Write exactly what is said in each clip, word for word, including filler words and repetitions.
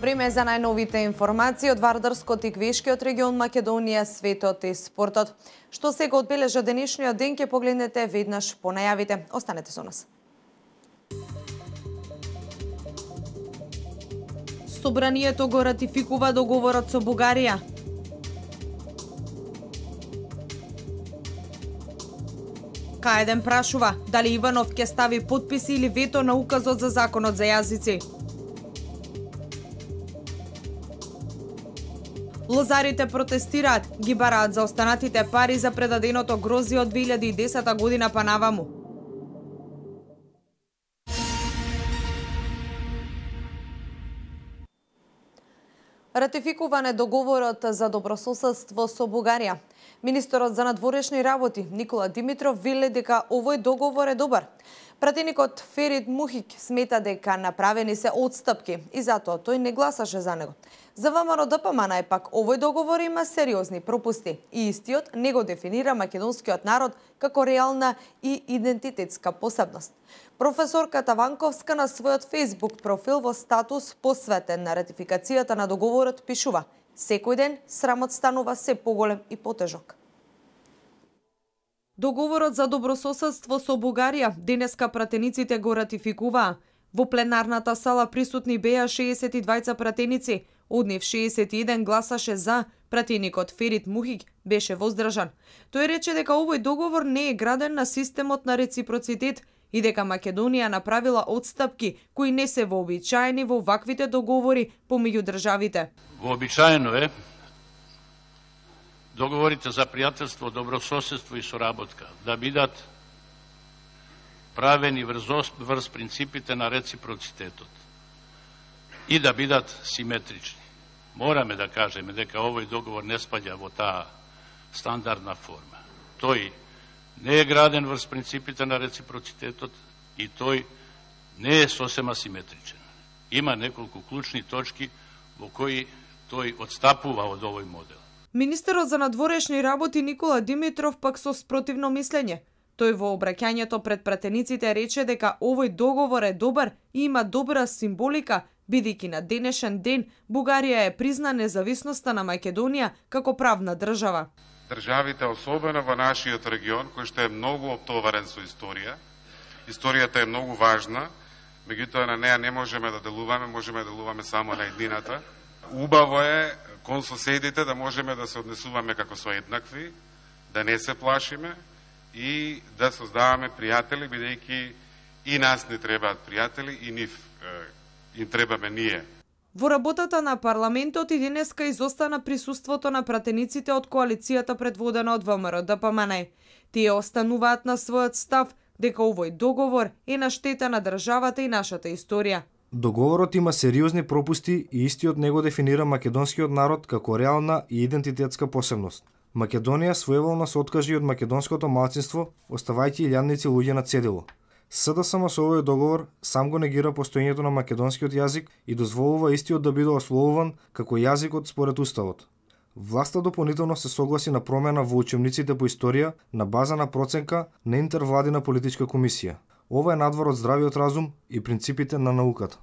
Време за најновите информации од Вардарскот и Квешкиот регион, Македонија, светот и спортот. Што сега одбележа денешниот ден ќе погледнете веднаш по најавите. Останете со нас. Собранието го ратификува договорот со Бугарија. К еден прашува дали Иванов ќе стави подписи или вето на указот за законот за јазици. Лозарите протестираат, ги бараат за останатите пари за предаденото грозје од две илјади и десета година па наваму. Ратификуване договорот за добрососедство со Бугарија. Министерот за надворешни работи Никола Димитров вели дека овој договор е добар. Пратеникот Ферит Мухик смета дека направени се отстапки и затоа тој не гласаше за него. За ВМРО Д П М Н пак овој договор има сериозни пропусти и истиот не го дефинира македонскиот народ како реална и идентитетска посебност. Професорката Ванковска на својот Facebook профил во статус посветен на ратификацијата на договорот пишува: секој ден срамот станува се поголем и потежок. Договорот за добрососедство со Бугарија денеска пратениците го ратификуваа. Во пленарната сала присутни беа шеесет и двајца пратеници, од нив шеесет и еден гласаше за, пратеникот Ферит Мухик беше воздржан. Тој рече дека овој договор не е граден на системот на реципроцитет и дека Македонија направила отстапки кои не се вообичаени во ваквите договори помеѓу државите. Вообичаено е договорите за пријателство, добрососедство и соработка да бидат правени врз, врз принципите на реципроцитетот и да бидат симетрични. Мораме да кажеме дека овој договор не спаѓа во таа стандардна форма. Тој не е граден врз принципите на реципроцитетот и тој не е сосема симетричен. Има неколку клучни точки во кои тој одстапува од овој модел. Министерот за надворешни работи Никола Димитров пак со спротивно мислење. Тој во обраќањето пред пратениците рече дека овој договор е добар и има добра символика, бидејќи на денешен ден Бугарија е призна независноста на Македонија како правна држава. Државите, особено во нашиот регион, кој што е многу оптоварен со историја, историјата е многу важна, меѓутоа на неа не можеме да делуваме, можеме да делуваме само на еднината. Убаво е кон соседите да можеме да се однесуваме како со еднакви, да не се плашиме и да создаваме пријатели, бидејќи и нас не требаат пријатели и нив им требаме ние. Во работата на парламентот и денеска изостана присуството на пратениците од коалицијата предводена од ВМРО Д П М Н. Тие остануваат на својот став дека овој договор е на штета на државата и нашата историја. Договорот има сериозни пропусти и истиот него дефинира македонскиот народ како реална и идентитетска посебност. Македонија своеволно се откажи од македонското малцинство, оставајќи илјадници луѓе на цедило. С Д С М со овој договор сам го негира постоењето на македонскиот јазик и дозволува истиот да биде ословуван како јазикот според уставот. Власта дополнително се согласи на промена во учебниците по историја на база на проценка на интервладина политичка комисија. Ова е надвор од здравиот разум и принципите на науката.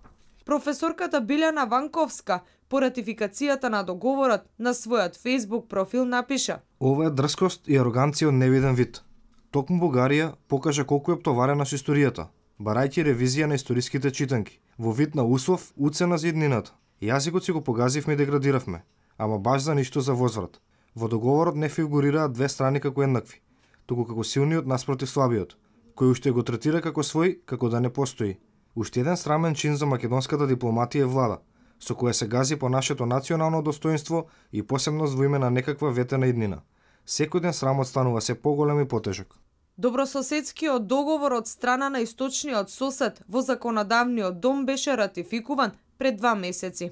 Професорката Билјана Ванковска по ратификацијата на договорот на својот Facebook профил напиша: ова е дрскост и ароганција од невиден вид. Токму Бугарија покажа колку е оптоварена со историјата, барајќи ревизија на историските читанки, во вид на услов уцена за иднината. Јазикот си го погазивме и деградиравме, ама баш за ништо за возврат. Во договорот не фигурираат две страни како еднакви, туку како силниот наспротив слабиот, кој уште го третира како свој, како да не постои. Уште еден срамен чин за македонската дипломатија е влада, со која се гази по нашето национално достоинство и посебност во име на некаква ветена иднина. Секој ден срамот станува се поголем и потежок. Добрососедскиот договор од страна на источниот сосед во законодавниот дом беше ратификуван пред два месеци.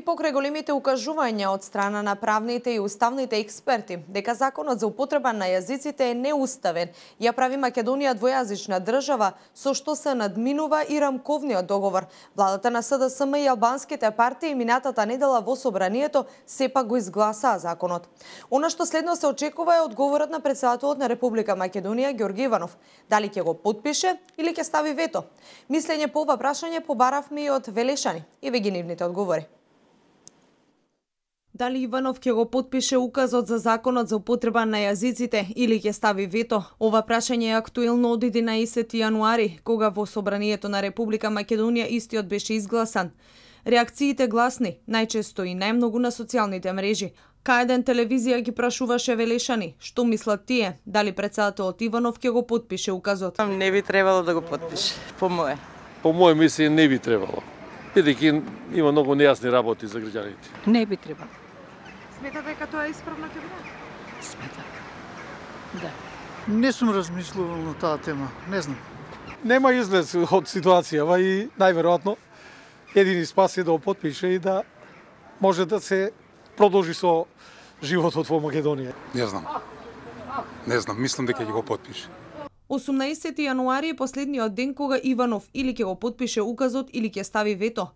покрај големите укажувања од страна на правните и уставните експерти дека законот за употреба на јазиците е неуставен, ја прави Македонија двојазична држава, со што се надминува и рамковниот договор. Владата на СДСМ и албанските партии минатата недела во собранието сепак го изгласаа законот. Она што следно се очекува е одговорот на претседателот на Република Македонија Ѓорги Иванов. Дали ќе го потпише или ќе стави вето? Мислење по ова прашање побаравме и од Велешани и веќе нивните одговори. Дали Иванов ќе го потпише указот за законот за употреба на јазиците или ќе стави вето? Ова прашање е актуелно од единаесети јануари, кога во собранието на Република Македонија истиот беше изгласан. Реакциите гласни, најчесто и најмногу на социјалните мрежи. К еден телевизија ги прашуваше Велешани што мислат тие, дали претседателот Иванов ќе го потпише указот. Не би требало да го потпише, по мое. По моје мислење не би требало, бидејќи има многу нејасни работи за граѓаните. Не би требало. Смета дека тоа е исправно ќе биде? Смета. Да. Не сум размислувал на таа тема, не знам. Нема излез од ситуацијава и најверојатно едини спас е да го потпише и да може да се продолжи со животот во Македонија. Не знам. Не знам, мислам дека ќе го потпише. осумнаесети јануари е последниот ден кога Иванов или ќе го потпише указот или ќе стави вето.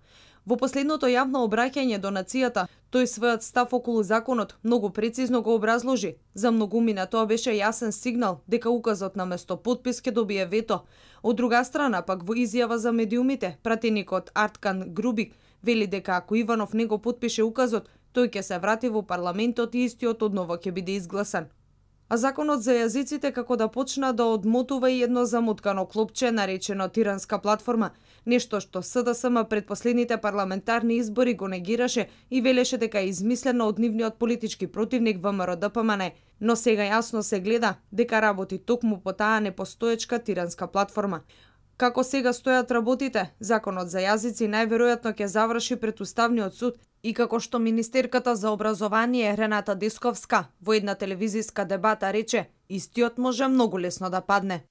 Во последното јавно обраќање до нацијата, тој својот став околу законот многу прецизно го образложи. За многумина тоа беше јасен сигнал дека указот наместо потпис ќе добие вето. Од друга страна, пак во изјава за медиумите, пратеникот Арткан Грубик вели дека ако Иванов не го потпише указот, тој ќе се врати во парламентот и истиот одново ќе биде изгласан. А законот за јазиците како да почна да одмотува и едно замуткано клопче наречено тиранска платформа, нешто што СДСМ пред последните парламентарни избори го негираше и велеше дека е измислено од нивниот политички противник ВМРО Д П М Н, но сега јасно се гледа дека работи токму по таа непостоечка тиранска платформа. Како сега стојат работите, законот за јазици најверојатно ќе заврши пред Уставниот суд и како што министерката за образование Рената Дисковска во една телевизиска дебата рече, истиот може многу лесно да падне.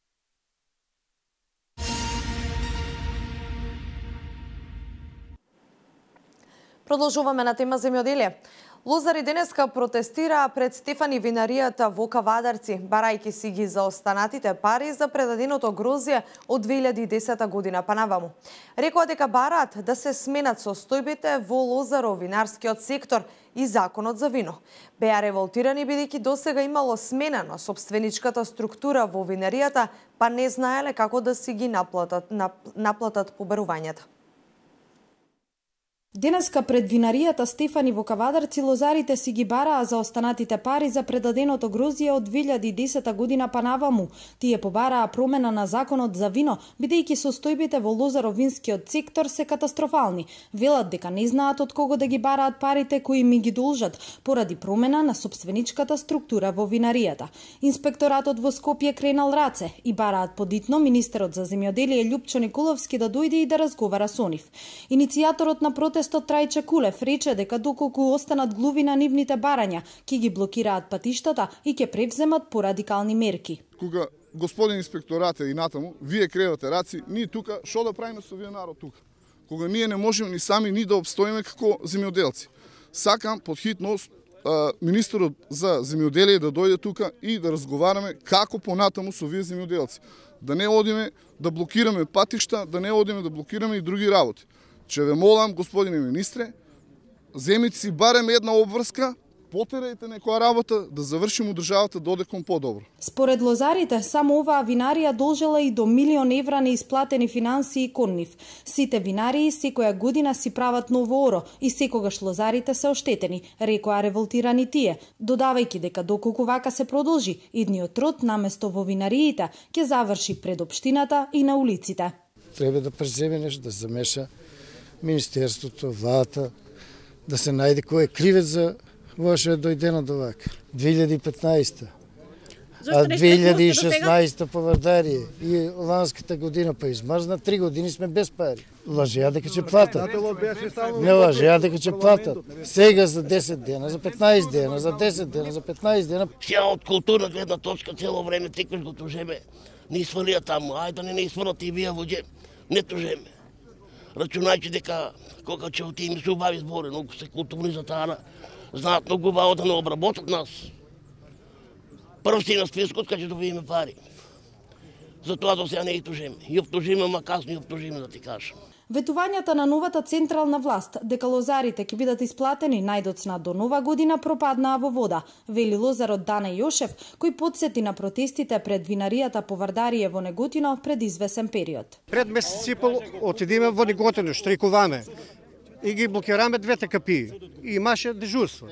Продолжуваме на тема земјоделие. Лозари денеска протестираа пред Стефани винаријата во Кавадарци, барајќи си ги заостанатите пари за предаденото грозје од две илјади и десета година па наваму. Рекоа дека бараат да се сменат состојбите во лозаро-винарскиот сектор и законот за вино. Беа револтирани бидејќи досега имало смена на собственичката структура во винаријата, па не знаеле како да си ги наплатат, наплатат побарувањата. Денеска пред винаријата Стефани во Кавадарци лозарите си ги бараа за останатите пари за предаденото грозје од две илјади и десета година па наваму. Тие побараа промена на законот за вино, бидејќи состојбите во лозаро-винскиот сектор се катастрофални. Велат дека не знаат од кого да ги бараат парите кои ми ги должат, поради промена на собственичката структура во винаријата. Инспекторатот во Скопје кренал раце и бараат подитно министерот за земјоделие Љупчо Николовски да дојде и да разговара со нив. Иницијаторот на протестот Трајче Кулев рече дека доколку останат глуви на нивните барања, ќе ги блокираат патиштата и ќе превземат порадикални мерки. Кога господин инспекторате и натаму, вие кревате раци, ние тука што да правиме со вие народ тука? Кога ние не можеме ни сами ни да обстоиме како земјоделци. Сакам подхитно министерот за земјоделие да дојде тука и да разговараме како понатаму со вие земјоделци. Да не одиме да блокираме патишта, да не одиме да блокираме и други работи. Че ве молам, господине министре, земите си барем една обврска, потерајте некоја работа да завршиме државата додеком подобро. Според лозарите, само оваа винарија должела и до милион евра неисплатени финансии кон нив. Сите винарии секоја година си прават ново оро и секогаш лозарите се оштетени, рекоа револтирани тие, додавајќи дека доколку вака се продолжи, идниот труд наместо во винариите ќе заврши пред општината и на улиците. Треба да преземе нешто, да замеша Министерството, владата, да се најде кој е кривец за ова што е дојдено до вака. две илјади и петнаесета. А две илјади и шеснаесета по Вардарија и ланската година па измрзна, три години сме без пари. Лажеа дека ќе платат. Не лажеа дека ќе платат. Сега за десет дена, за петнаесет дена, за десет дена, за петнаесет дена. Сега од културна гледна точка цело време текаш го тужеме. Не свалија таму, ајде да не не свалат и вие воѓе. Не тужеме. рачунајќи дека кога ќе отидеме се убави збори, многу се културни за таа, знаат многу убаво да не обработат нас. Прв си на спискот кога ќе добиеме пари. Затоа до сега не ги тужиме. И обтужиме, ма касно и обтужиме, да ти кажам. Ветувањата на новата централна власт дека лозарите ќе бидат исплатени најдоцна до нова година пропаднаа во вода, вели лозарот Дане Јошев, кој потсети на протестите пред винаријата по Вардарие во Неготино пред извесен период. Пред месец и пол отидеме во Неготино, штрикуваме и ги блокираме двете капии. И имаше дежурство.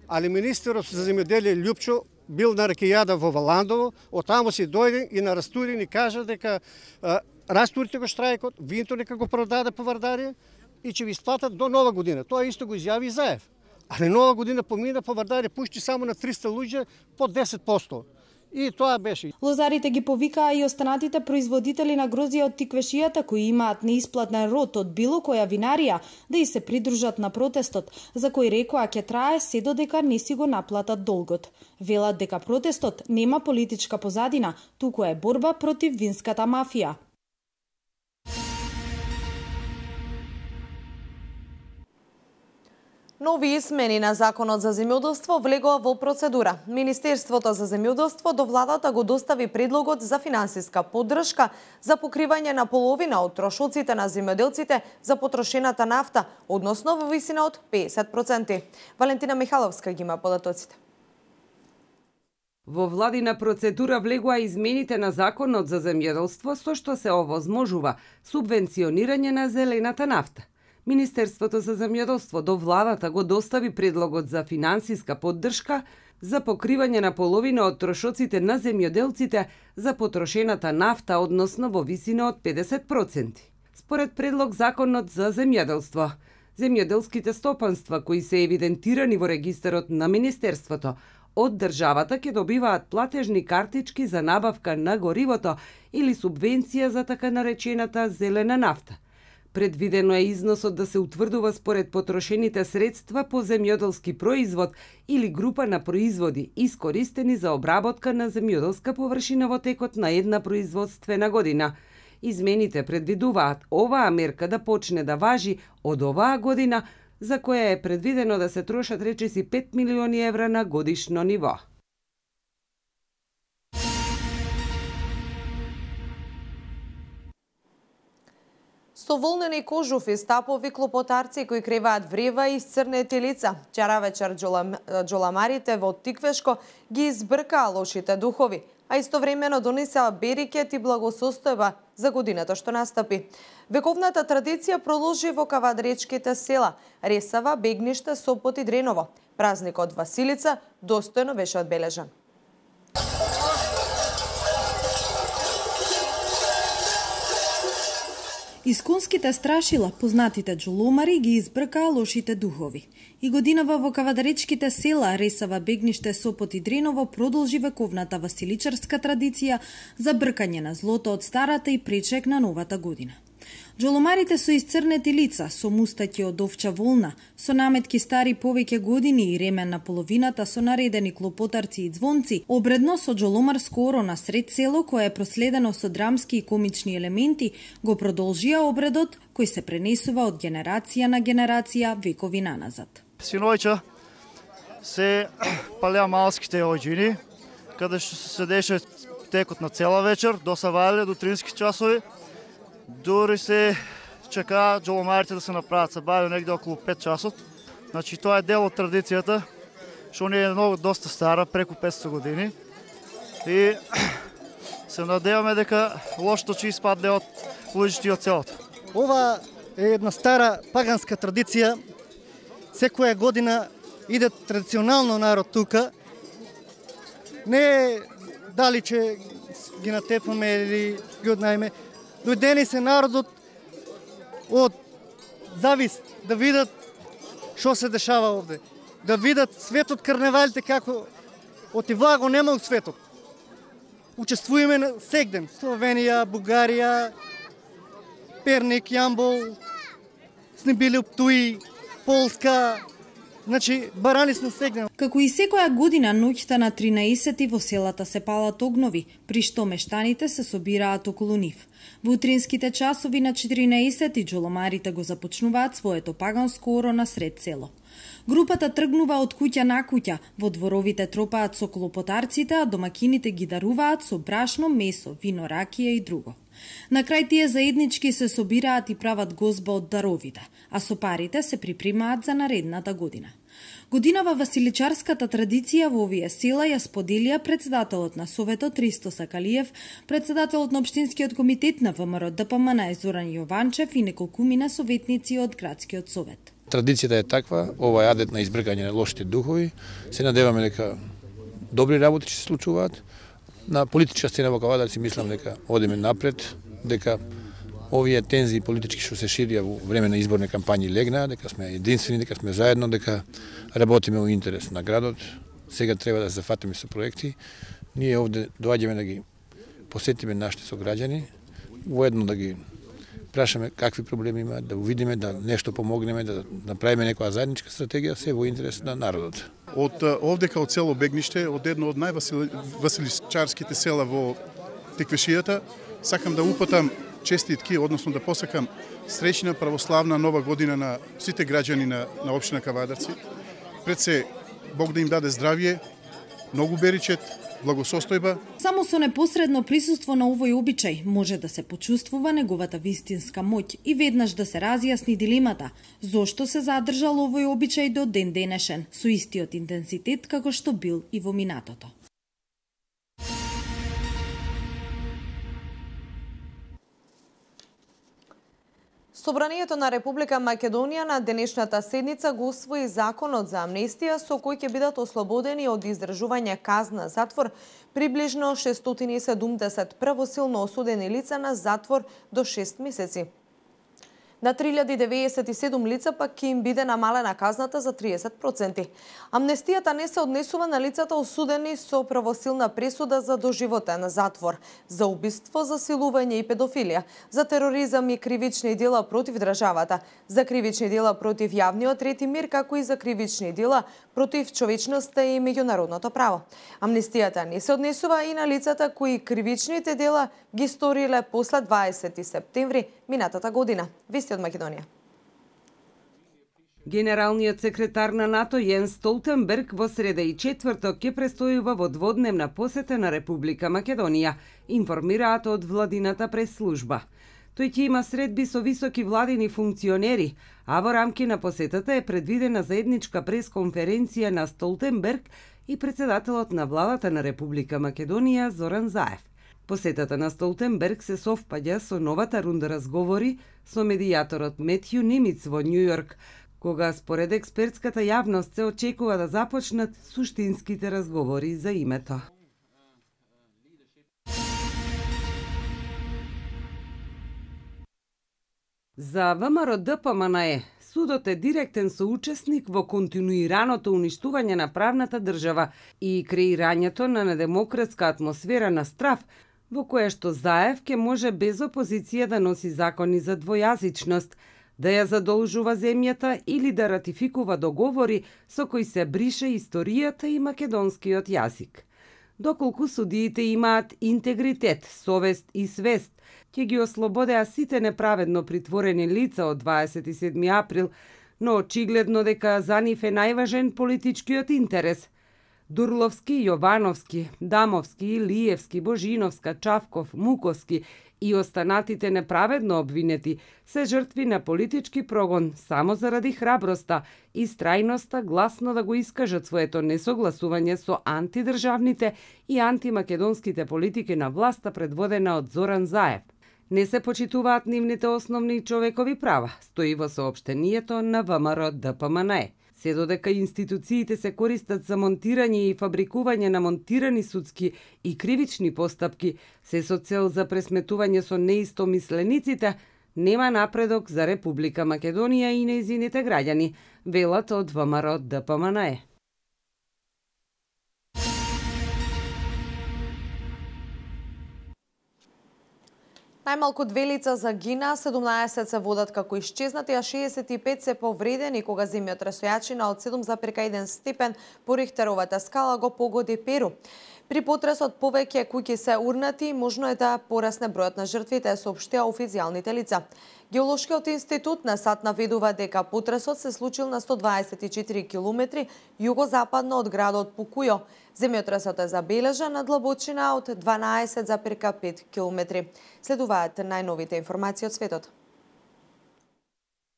Али министерот за земјоделие Љупчо бил на ракијада во Валандово, оттаму си дојде и на растури ни кажа дека а, растурите го штрајкот, винто нека го продаде по Вардарие и ќе ви исплатат до нова година. Тоа исто го изјави и Заев. Али нова година помина по Вардарие пушти само на триста луѓе по десет проценти. И тоа беше. Лозарите ги повикаа и останатите производители на грозија од тиквешијата кои имаат неисплатен род од било која винарија да и се придружат на протестот, за кој рекоа ќе трае се додека не си го наплатат долгот. Велат дека протестот нема политичка позадина, туку е борба против винската мафија. Нови измени на Законот за земјоделство влегоа во процедура. Министерството за земјоделство до владата го достави предлогот за финансиска поддршка за покривање на половина од трошоците на земјоделците за потрошената нафта, односно во висина од песет проценти. Валентина Михаловска ги има податоците. Во владина процедура влегоа измените на Законот за земјоделство со што се овозможува субвенционирање на зелената нафта. Министерството за земјоделство до владата го достави предлогот за финансиска поддршка за покривање на половина од трошоците на земјоделците за потрошената нафта, односно во висина од педесет проценти. Според предлог Законот за земјоделство, земјоделските стопанства кои се евидентирани во регистарот на Министерството од државата ќе добиваат платежни картички за набавка на горивото или субвенција за така наречената зелена нафта. Предвидено е износот да се утврдува според потрошените средства по земјоделски производ или група на производи искористени за обработка на земјоделска површина во текот на една производствена година. Измените предвидуваат оваа мерка да почне да важи од оваа година, за која е предвидено да се трошат речиси пет милиони евра на годишно ниво. Со волнени кожуфи, стапови, клопотарци кои креваат врева и исцрнети лица. Вчера вечер джоламарите во Тиквешко ги избркаа лошите духови, а истовремено донесеа берикет и благосостојба за годината што настапи. Вековната традиција продолжи во кавадречките села Ресава, Бегниште, Сопот и Дреново. Празникот Василица достојно беше одбележан. Исконските страшила, познатите джоломари, ги избркаа лошите духови. И годинава во кавадаречките села Ресава, Бегниште, Сопот и Дреново продолжи вековната василичарска традиција за бркање на злото од старата и пречек на новата година. Джоломарите со исцрнети лица, со мустаќи од овча волна, со наметки стари повеќе години и ремен на половината со наредени клопотарци и звонци, обредно со джоломарско оро на сред село кое е проследено со драмски и комични елементи, го продолжија обредот кој се пренесува од генерација на генерација векови наназад. Синојче се палеа малските оѓини, каде што се седеше текот на цела вечер, до савале, до трински часови. Дури се чекаа джоломарите да се направат, се баве негде околу пет часот. Значи тоа е дел од традицијата, што не е многу доста стара, преку петстотини години. И се надеваме дека лошото ќе испадне од луѓето од селото. Ова е една стара паганска традиција. Секоја година иде традиционално народ тука. Не е дали че ги натепаме или ги однаеме. Дојдени се народот од завист да видат што се дешава овде. Да видат светот карневалите како отива го нема у светот. Учествуваме сегден. Словенија, Бугарија, Перник, Јамбол, сме били Туи, Полска, Значи, барани сме сегнали. Како и секоја година ноќта на тринаесети во селата се палат огнови, при што мештаните се собираат околу нив. Во утринските часови на четиринаесети џоломарите го започнуваат своето паганско оро на сред село. Групата тргнува од куќа на куќа, во дворовите тропаат со клопотарците, а домакините ги даруваат со брашно, месо, вино, ракија и друго. На крај тие заеднички се собираат и прават гозба од даровите, а со парите се припремаат за наредната година. Годинава василичарската традиција во овие села ја споделија председателот на Советот Ристо Сакалиев, председателот на Општинскиот комитет на ВМРО Д П М Н Зоран Јованчев и неколкумина советници од Градскиот совет. Традицијата е таква, ова е адет на избргање на лошите духови. Се надеваме дека добри работи ќе се случуваат. На политичка сцена во Кавадар си мислам дека одиме напред, дека овие тензии политички што се ширија во време на изборни кампањи легнаа, дека сме единствени, дека сме заедно, дека работиме во интерес на градот. Сега треба да се зафатиме со проекти. Ние овде доаѓаме да ги посетиме нашите сограѓани, воедно да ги прашаме какви проблеми има, да видиме, да нешто помогнеме, да направиме некоја заедничка стратегија, се во интерес на народот. Од овдека од село Бегниште, од едно од највасиличарските села во Теквешијата, сакам да упатам честитки, односно да посакам среќна православна нова година на сите граѓани на, на општина Кавадарци. Пред се, Бог да им даде здравје, многу беричет, благосостојба. Само со непосредно присуство на овој обичај може да се почувствува неговата вистинска моќ и веднаш да се разјасни дилемата зошто се задржал овој обичај до ден денешен со истиот интензитет како што бил и во минатото. Собранието на Република Македонија на денешната седница го усвои законот за амнестија со кој ќе бидат ослободени од издржување казна затвор приближно шестстотини и седумдесет правосилно осудени лица на затвор до шест месеци. На три илјади девеесет и седум лица пак ќе им биде намалена казната за триесет проценти. Амнестијата не се однесува на лицата осудени со правосилна пресуда за доживотен затвор, за убиство, засилување и педофилија, за тероризам и кривични дела против државата, за кривични дела против јавниот ред и мир, како и за кривични дела против човечноста и меѓународното право. Амнестијата не се однесува и на лицата кои кривичните дела ги сториле после дваесети септември минатата година. Вести од Македонија. Генералниот секретар на НАТО Јенс Столтенберг во среда и четврток ќе престојува во дводневна посета на Република Македонија, информираат од владината пресслужба. Тој ќе има средби со високи владини функционери, а во рамки на посетата е предвидена заедничка пресконференција на Столтенберг и председателот на владата на Република Македонија Зоран Заев. Посетата на Столтенберг се совпаѓа со новата рунда разговори со медијаторот Метју Нимиц во Њујорк, кога според експертската јавност се очекува да започнат суштинските разговори за името. За ВМРО Д П М Н Е, судот е директен соучесник во континуираното уништување на правната држава и креирањето на недемократска атмосфера на страв, во кое што Заев ке може без опозиција да носи закони за двојазичност, да ја задолжува земјата или да ратификува договори со кои се брише историјата и македонскиот јазик. Доколку судиите имаат интегритет, совест и свест, ќе ги ослободеа сите неправедно притворени лица од дваесет и седми април, но очигледно дека за нив е најважен политичкиот интерес. Дурловски, Јовановски, Дамовски, Илиевски, Божиновска, Чавков, Муковски и останатите неправедно обвинети се жртви на политички прогон само заради храброста и страјноста гласно да го искажат своето несогласување со антидржавните и антимакедонските политики на власта предводена од Зоран Заев. Не се почитуваат нивните основни човекови права, стои во соопштението на ВМРО Д П М Н Е. Се додека институциите се користат за монтирање и фабрикување на монтирани судски и кривични постапки, се со цел за пресметување со неистомислениците, нема напредок за Република Македонија и нејзините граѓани, велат од ВМРО Д П М Н Е. Најмалку две лица загина, седумнаесет се водат како исчезнати, а шеесет и пет се повредени кога земјотресојачина од седум зарез еден степен по Рихтеровата скала го погоди Перу. При потресот повеќе куќи се урнати, можно е да порасне бројот на жртвите, соопштија официјалните лица. Геолошкиот институт на САД наведува дека потресот се случил на сто дваесет и четири километри југозападно од градот Пукујо. Земјотресот е забележан на длабочина од дванаесет зарез пет километри. Следуваат најновите информации од светот.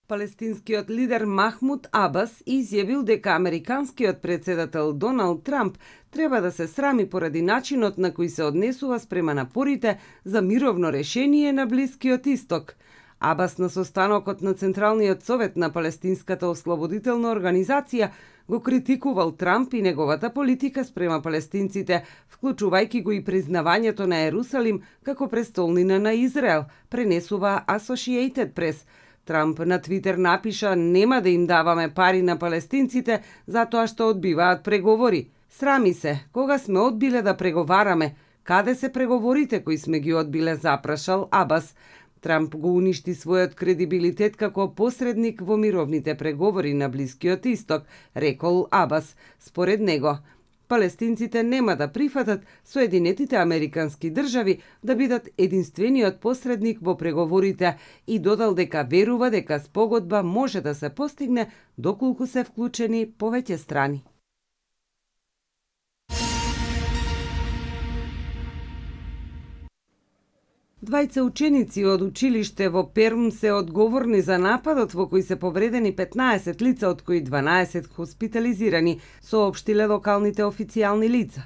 Палестинскиот лидер Махмуд Абас изјавил дека американскиот председател Доналд Трамп треба да се срами поради начинот на кој се однесува спрема напорите за мировно решение на Блискиот Исток. Абас на состанокот на Централниот совет на Палестинската ослободителна организација го критикувал Трамп и неговата политика спрема палестинците, вклучувајќи го и признавањето на Ерусалим како престолнина на Израел, пренесува Associated Press. Трамп на Твитер напиша: "Нема да им даваме пари на палестинците затоа што одбиваат преговори. Срами се, кога сме одбиле да преговараме, каде се преговорите кои сме ги одбиле", запрашал Абас. Трамп го уништи својот кредибилитет како посредник во мировните преговори на Блискиот Исток, рекол Абас. Според него, палестинците нема да прифатат Соединетите Американски држави да бидат единствениот посредник во преговорите и додал дека верува дека спогодба може да се постигне доколку се вклучени повеќе страни. Двајца ученици од училиште во Перм се одговорни за нападот во кој се повредени петнаесет лица, од кои дванаесет хоспитализирани, соопштиле локалните официјални лица.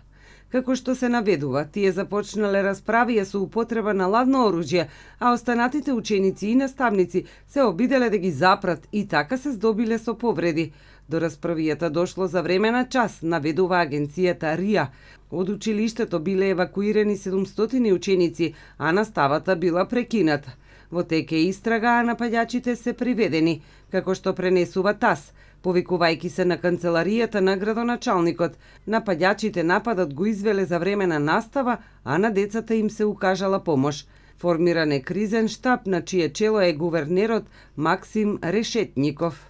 Како што се наведува, тие започнале расправија со употреба на ладно оружје, а останатите ученици и наставници се обиделе да ги запрат и така се здобиле со повреди. До расправијата дошло за време на час, наведува агенцијата РИА. Од училиштето биле евакуирани седумстотини ученици, а наставата била прекината. Во теке истрага, а нападјачите се приведени, како што пренесува ТАС. Повикувајќи се на канцеларијата на градоначалникот, нападјачите нападот го извеле за време на настава, а на децата им се укажала помош. Формиран е кризен штаб, на чие чело е гувернерот Максим Решетников.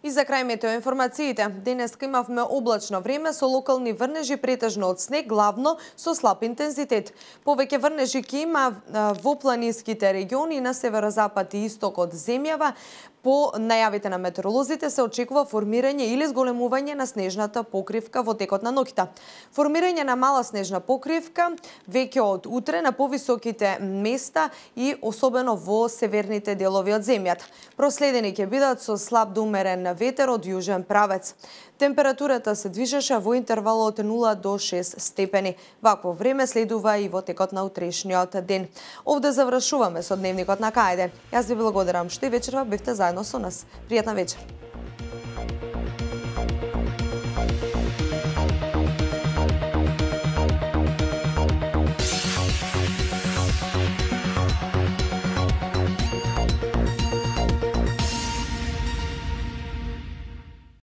И за крај метеоинформациите, денеска имавме облачно време со локални врнежи претежно од снег, главно со слаб интензитет. Повеќе врнежи ќе има во планинските региони на северозапад и исток од земјава. По најавите на метеоролозите се очекува формирање или зголемување на снежната покривка во текот на ноќта. Формирање на мала снежна покривка веќе од утре на повисоките места и особено во северните делови од земјата. Проследени ќе бидат со слаб до умерен ветер од јужен правец. Температурата се движеше во интервал од нула до шест степени. Вакво време следува и во текот на утрешниот ден. Овде завршуваме со дневникот на Кајде. Јас ви благодарам што и вечерва бевте заедно со нас. Пријатна вечер.